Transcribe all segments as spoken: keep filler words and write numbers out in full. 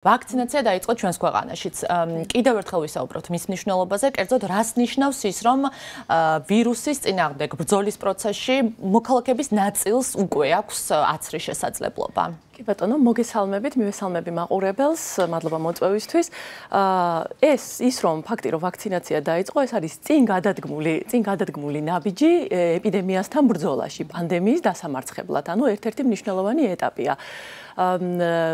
ვაქცინაცია დაიწყო ჩვენს ქვეყანაშიც. კიდევ ერთხელ ვისაუბროთ მის მნიშვნელობაზე, კერძოდ რას ნიშნავს ის, რომ ვირუსის წინააღმდეგ ბრძოლის პროცესში მოქალაქეების ნაწილს უკვე აქვს აცრის შესაძლებლობა. კი ბატონო, მოგესალმებით, მივესალმები მაყურებელს, მადლობა მოწვევისთვის. ეს ის რომ ფაქტი რომ ვაქცინაცია დაიწყო, ეს არის წინ გადადგმული, წინ გადადგმული ნაბიჯი ეპიდემიასთან ბრძოლაში, პანდემიის დასამარცხებლად, ანუ ერთ-ერთი მნიშვნელოვანი ეტაპია.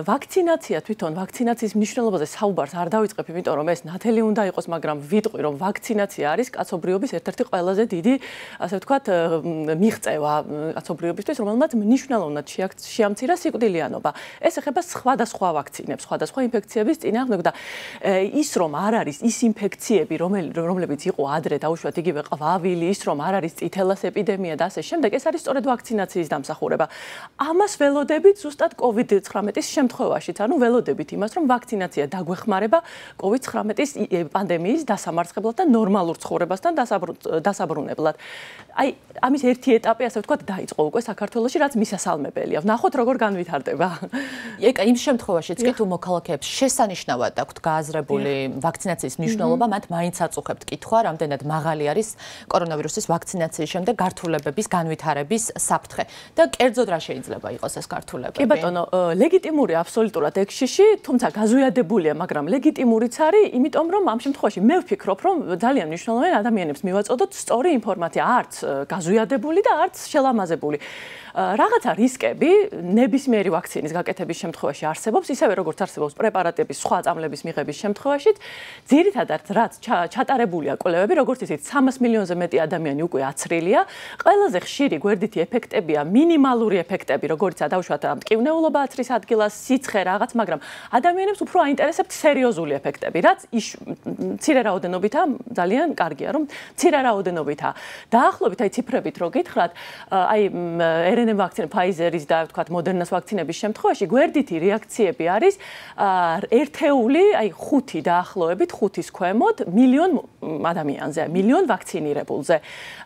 ვაქცინაცია თვითონ ვაქცინაციის მნიშვნელობაზე საუბარს არ დავიწყებ, იმიტომ რომ ეს ნათელი უნდა იყოს, მაგრამ ვიტყვი რომ ვაქცინაცია არის კაცობრიობის ერთ-ერთი ყველაზე დიდი, ასე ვთქვათ, მიღწევა კაცობრიობისთვის, რომელმაც მნიშვნელოვნად შეამცირა სიკვდილიანობა. ეს ეხება სხვადასხვა ვაქცინებს, სხვადასხვა ინფექციების წინააღმდეგ და ის რომ არ არის ის ინფექციები, რომლებიც იყო ადრე დაუშვათ იგივე ყვავილი, ის რომ არ არის წითელას ეპიდემია და ასე შემდეგ, ეს არის სწორედ ვაქცინაციის დამსახურება. ამას ველოდებით ზუსტად COVID ცხრამეტის შემთხვევაშიც, ანუ ველოდებით იმას, რომ ვაქცინაცია დაგვეხმარება COVID ცხრამეტის პანდემიის დასამარცხებლად და ნორმალურ ცხოვრებასთან დასაბრუნებლად. აი, ამის ერთი ეტაპი, ასე ვთქვათ, დაიწყო უკვე საქართველოში, რაც მისასალმებელია. ვნახოთ, როგორ განვითარდება. ეკა, იმ შემთხვევაშიც კი თუ მოქალაქეებს შესანიშნავად აქვთ გააზრებული ვაქცინაციის მნიშვნელობა, მათ მაინც აწუხებთ კითხვა, რამდენად მაღალი არის კორონავირუსის ვაქცინაციის შემდეგ გართულებების განვითარების საფრთხე და კერძოდ რა შეიძლება იყოს ეს გართულებები? კი ბატონო, ლეგიტიმური აბსოლუტურად ექშიში, თუმცა გაზუიადებულია, მაგრამ ლეგიტიმურიც არის, იმიტომ რომ ამ შემთხვევაში მე ვფიქრობ, რომ ძალიან მნიშვნელოვანია ადამიანებს მივაწოდოთ სწორი ინფორმაცია, არც გაზუიადებული და არც შელამაზებული. რაღაცა რისკები ნებისმიერი ვაქცინის გაკეთების შემთხვევაში არსებობს, ისევე როგორც არსებობს პრეპარატების სხვა წამლების მიღების შემთხვევაშიც. ძირითადად რაც ჩატარებულია კვლევები, როგორც ისიც სამას მილიონზე მეტი ადამიანი უკვე აცრილია. ყველაზე ხშირი გვერდითი ეფექტებია მინიმალური ეფექტები, როგორიცაა დაუშვათ მტკივნეულობა აცრის ადგილას, სიცხე რაღაც, მაგრამ ადამიანებს უფრო აინტერესებთ სერიოზული ეფექტები, რაც მცირე რაოდენობითა ძალიან კარგია, რომ მცირე რაოდენობითა. დაახლოებით აი ციფრებით რო გითხრათ, აი R N A ვაქცინა Pfizer-ის და ვთქვათ Moderna-ს ვაქცინების შემთხვევაში გვერდითი რეაქციები არის ერთეული, აი ხუთი დაახლოებით ხუთის ქვემოთ მილიონ ადამიანზე, მილიონ ვაქცინირებულზე.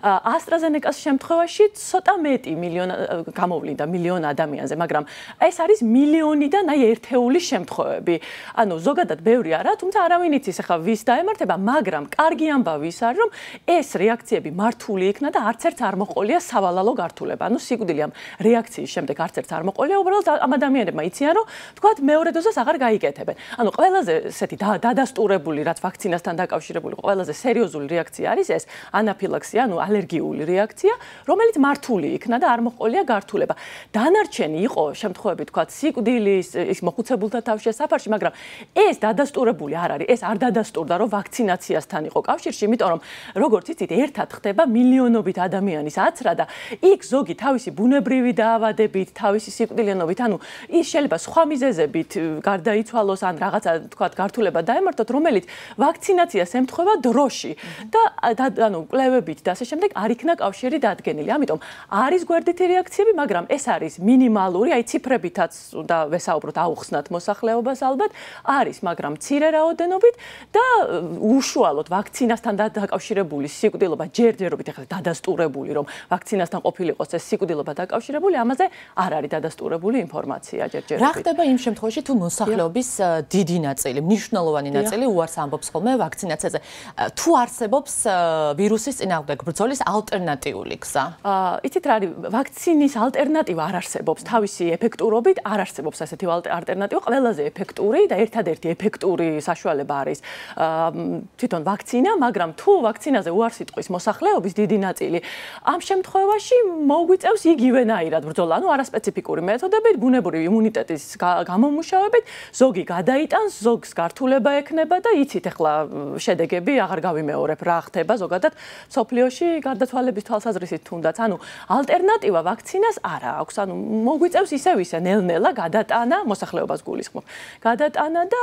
AstraZeneca-ს შემთხვევაში ცოტა მეტი მილიონ გამოვლინდა მილიონ ადამიანზე, მაგრამ ეს არის მილიონიდან აი ერთეული შემთხვევები. ანუ ზოგადად ბევრი არა, თუმცა არავინ იცის ახლა ვის დაემართება, მაგრამ კარგი ამბავი ის არის, რომ ეს რეაქციები მართული იქნა და არც ერთ არ მოყოლია სავალალო გართულება. ანუ სიკვდილი ამ რეაქციის შემდეგ არც ერთ არ მოყოლია, უბრალოდ ამ ადამიანებმა იციან, რომ თქვათ მეორე დოზას აღარ გაიკეთებენ. ანუ ყველაზე ესეთი დადასტურებული, რაც ვაქცინასთან დაკავშირებული, ყველაზე სერიოზული რეაქცია არის ეს ანაფილაქსია, ანუ ალერგიული რეაქცია, რომელიც მართული იქნა და არ მოყოლია გართულება. დანარჩენი იყო შემთხვევები, თქვათ, სიკვდილის, ის მოხუცებულთა თავშესაფარში, მაგრამ ეს დადასტურებული არ არის, ეს არ დადასტურდა, რომ ვაქცინაციასთან იყო კავშირში, იმიტომ რომ როგორც იცით, ერთად ხდება მილიონობით ადამიანის აცრა და იქ ზოგი თავისი ბუნებრივი დაავადებით, თავისი სიკვდილიანობით, ანუ ის შეიძლება სხვა მიზეზებით გარდაიცვალოს ან რაღაცა, თქვათ, გართულება დაემართოთ, რომელიც ვაქცინაციას ემთხვევა დროში და ანუ კვლევებით და ასე შემდეგ არ იქნა კავშირი დადგენილი. ამიტომ არის გვერდითი რეაქციები, მაგრამ ეს არის მინიმალური, აი ციფრებითაც უნდა ვესაუბროთ, აუხსნათ მოსახლეობას ალბათ, არის, მაგრამ მცირე რაოდენობით და უშუალოდ ვაქცინასთან დაკავშირებული სიკვდილობა ჯერჯერობით ახლა დადასტურებული, რომ ვაქცინასთან ყოფილიყოს ეს სიკვდილობა დაკავშირებული, ამაზე არ არის დადასტურებული ინფორმაცია ჯერჯერობით. რა ხდება იმ შემთხვევაში, თუ მოსახლეობის დიდი ნაწილი, მნიშვნელოვანი ნაწილი უარს ამბობს ხოლმე ვაქცინაციაზე? თუ არსებობს ვირუსის წინააღმდეგ ბრძოლის ალტერნატიული გზა? იცით რა არის, ვაქცინის ალტერნატივა არ არსებობს, თავისი ეფექტურობით არ არსებობს ასეთი ალტერნატივა. ყველაზე ეფექტური და ერთადერთი ეფექტური საშუალება არის თვითონ ვაქცინა, მაგრამ თუ ვაქცინაზე უარს იტყვის მოსახლეობის დიდი ნაწილი, ამ შემთხვევაში მოგვიწევს იგივენაირად ბრძოლა, ანუ არასპეციფიკური მეთოდებით, ბუნებრივი იმუნიტეტის გამომუშავებით, ზოგი გადაიტანს, ზოგს გართულება ექნება და იცით ახლა შედეგები აღარ გავიმეორებ რა ხდება ზოგადად სოფლიოში გარდაცვალების თვალსაზრისით თუნდაც. ანუ ალტერნატივა ვაქცინას არა აქვს, ანუ მოგვიწევს ისევ ისე ნელ-ნელა გადატანა მოსახლეობას გულისხმობ. გადატანა და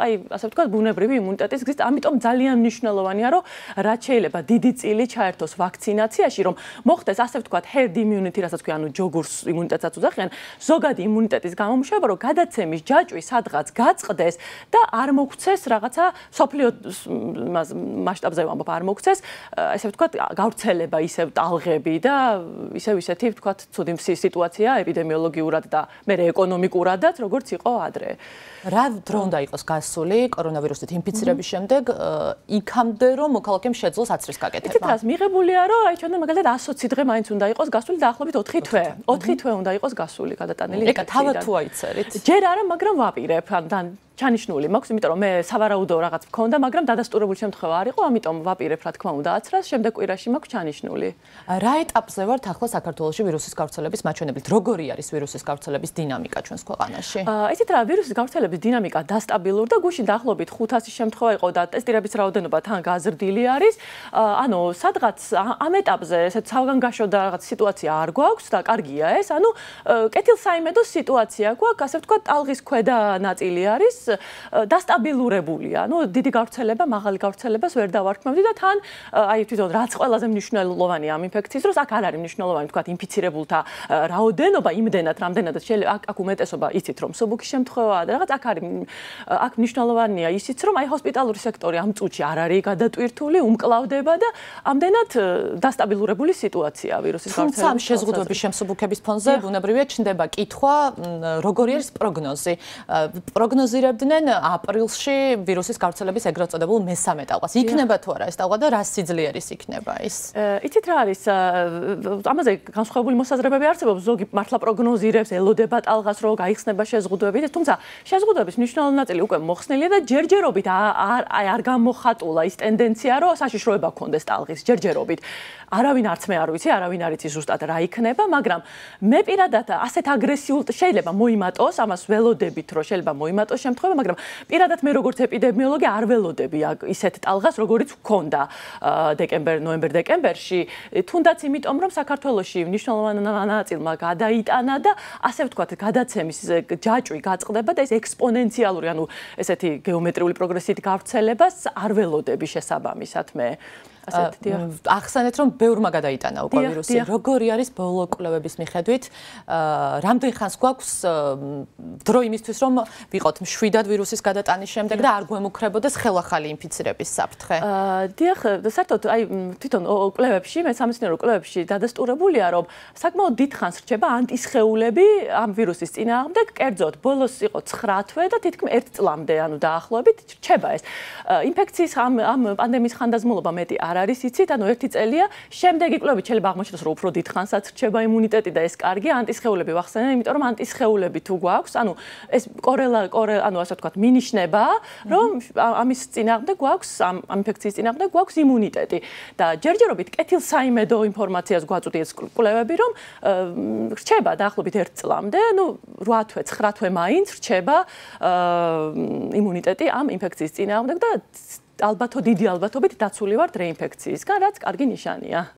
აი ასე ვთქვათ ბუნებრივი იმუნიტეტის გზით, ამიტომ ძალიან მნიშვნელოვანია, რომ რაც შეიძლება დიდი წილი ჩაერთოს ვაქცინაციაში, რომ მოხდეს ასე ვთქვათ herd immunity, რასაც ქვია, ანუ ჯოგურს იმუნიტეტსაც უძახიან, ზოგადი პირადი იმუნიტეტის გამომუშავება, რომ გადაცემის ჯაჭვი სადღაც გაწყდეს და არ მოგვცეს რაღაცა სოფლიო მასშტაბზე ვამბობ, არ მოგვცეს, ესე ვთქვათ, გავრცელება, ისევ ტალღები და ისევ ისეთი ვთქვათ, ცუდი სიტუაცია ეპიდემიოლოგიურად და მე ეკონომიკურადაც, როგორც იყო ადრე. რა დრო უნდა იყოს გასული კორონავირუსით ინფიცირების შემდეგ იქამდე რომ მოქალაქემ შეძლოს აცრის გაკეთება? იცით რას მიღებულია რომ აი ჩვენ მაგალითად εκατი ოცი დღე მაინც უნდა იყოს გასული დაახლოებით ოთხი თვე. ოთხი თვე უნდა იყოს გასული გადატანილი. ეკა თავად თუ აიწერით? ჯერ არა, მაგრამ ვაპირებ ან ჩანიშნული მაქვს, იმიტომ რომ მე სავარაუდო რაღაც მქონდა, მაგრამ დადასტურებული შემთხვევა არ იყო, ამიტომ ვაპირებ რა თქმა უნდა აცრას, შემდეგ კვირაში მაქვს ჩანიშნული. რა ეტაპზე ვართ ახლა საქართველოში ვირუსის გავრცელების მაჩვენებლით? როგორი არის ვირუსის გავრცელების დინამიკა ჩვენს ქვეყანაში? ისეთ რა ვირუსის გავრცელების დინამიკა დასტაბილურდა, გუშინ დაახლოებით ხუთასი შემთხვევა იყო და ტესტირების რაოდენობა თან გაზრდილი არის. ანუ სადღაც ამ ეტაპზე ესეთ სავგანგაშო და რაღაც სიტუაცია არ გვაქვს და კარგია ეს. ანუ კეთილსაიმედო სიტუაცია გვაქვს, ასე ვთქვათ, ტალღის ქვედა ნაწილი არის დასტაბილურებულია. ნუ დიდი გავრცელება, მაღალი გავრცელებას ვერ დავარქმევდი და თან აი თვითონ რაც ყველაზე მნიშვნელოვანია ამ ინფექციის დროს, აქ არ არის მნიშვნელოვანი თქვა ინფიცირებულთა რაოდენობა, იმდენად, რამდენადაც შეიძლება აქ უმეტესობა იცით რომ მსუბუქი შემთხვევაა და რაღაც აქ არის აქ მნიშვნელოვანია ისიც რომ აი ჰოსპიტალური სექტორი ამ წუთში არ არის გადატვირთული, უმკლავდება და ამდენად დასტაბილურებული სიტუაცია ვირუსის გავრცელების. თუმცა ამ შეზღუდვების შემსუბუქების ფონზე ბუნებრივია ჩნდება კითხვა, როგორი არის პროგნოზი. პროგნოზირებდნენ აპრილში ვირუსის გავრცელების ეგრეთ წოდებულ მესამე ტალღას. იქნება თუ არა ეს ტალღა და რა სიძლიერის იქნება ის? იცით რა არის? ამაზე განსხვავებული მოსაზრებები არსებობს. ზოგი მართლა პროგნოზირებს, ელოდება ტალღას, რომ გაიხსნება შეზღუდვები, თუმცა შეზღუდვების მნიშვნელოვანი ნაწილი უკვე მოხსნილია და ჯერჯერობით არ არ გამოხატულა ის ტენდენცია, რომ საშიშროება გქონდეს ტალღის ჯერჯერობით. არავინ არც მე არ ვიცი, არავინ არ იცი ზუსტად რა იქნება, მაგრამ მე პირადად ასეთ აგრესიულ შეიძლება მოიმატოს, ამას ველოდებით, რომ შეიძლება მოიმატოს შემთხვევა, მაგრამ პირადად მე როგორც ეპიდემიოლოგი არ ველოდები ისეთ ტალღას, როგორიც გქონდა დეკემბერ, ნოემბერ-დეკემბერში, თუნდაც იმიტომ, რომ საქართველოში მნიშვნელოვანი ნაწილმა გადაიტანა და ასე ვთქვათ, გადაცემის ჯაჭვი გაწყდება და ეს ექსპონენციალური, ანუ ესეთი გეომეტრიული პროგრესით გავრცელებას არ ველოდები შესაბამისად მე. ახსენეთ რომ ბევრმა გადაიტანა უკვე ვირუსი. როგორი არის ბოლო კვლევების მიხედვით? რამდენ ხანს გვაქვს დრო იმისთვის რომ ვიყოთ მშვიდად ვირუსის გადატანის შემდეგ და არ გვემუქრებოდეს ხელახალი ინფიცირების საფრთხე? დიახ, საერთოდ აი თვითონ კვლევებში, მეცამეცნიერო კვლევებში დადასტურებულია რომ საკმაოდ დიდ ხანს რჩება ანტისხეულები ამ ვირუსის წინააღმდეგ, კერძოდ ბოლოს იყო ცხრა თვე და თითქმის ერთ წლამდე, ანუ დაახლოებით რჩება ეს. ინფექციის ამ ამ პანდემიის ხანდაზმულობა მეტი არ არის იცით, ანუ ერთი წელია, შემდეგი კვლევით შეიძლება აღმოჩნდეს, რომ უფრო დიდ ხანსაც რჩება იმუნიტეტი და ეს კარგია, ანტისხეულები ვახსენე, იმიტომ რომ ანტისხეულები თუ გვაქვს, ანუ ეს კორელა, ანუ ასე ვთქვათ, მინიშნება, რომ ამის წინააღმდეგ გვაქვს, ამ ინფექციის წინააღმდეგ გვაქვს იმუნიტეტი და ჯერჯერობით კეთილსაიმედო ინფორმაციას გვაწვდი ეს კვლევები, რომ რჩება დაახლოებით ერთ წლამდე, ну რვა თვე, ცხრა თვე მაინც რჩება იმუნიტეტი ამ ინფექციის წინააღმდეგ და ალბათო დიდი ალბათობით დაცული ვართ რეინფექციისგან, რაც კარგი ნიშანია.